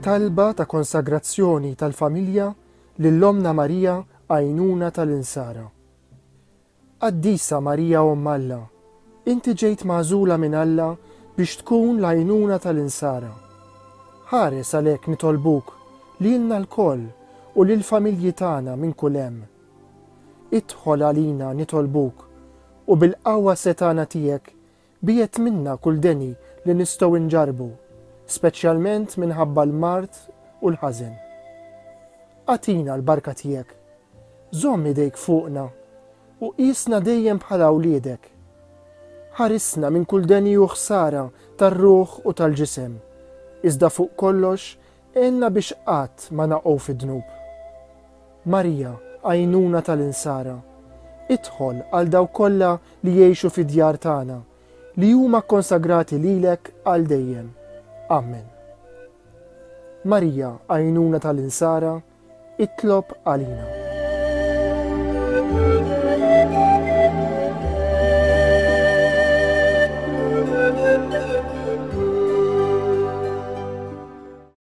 Talba ta' konsagrazzjoni tal-familja lil Ommna Marija għajnuna tal-insara. Qaddisa Marija Omm Alla, inti ġejt magħżula minn Alla biex tkun l-għajnuna tal-insara. Ħares għalhekk nitolbuk lilna lkoll u lill-familji tagħna minn kull hemm. Idħol għalina nitolbuk u bil-qawwa setgħana tiegħek biegħed minna kull deni li nistgħu nġarrbu, speċjalment minħabba l-mard u l-ħażen. Agħtina l-barka tiegħek. Żomm idejk fuqna u qisna dejjem bħala wliedek. Ħarisna minn kull deni u ħsara tar-ruħ u tal-ġisem, iżda fuq kollox għinna biex qatt ma naqgħu fid-dnub. Marija, għajnuna tal-insara, idħol għal dawk kollha li jgħixu fid-djar tagħna, li huma kkonsagrati lilek għal dejjem. Ammen. Marija, għajnuna tal-insara, itlob għalina.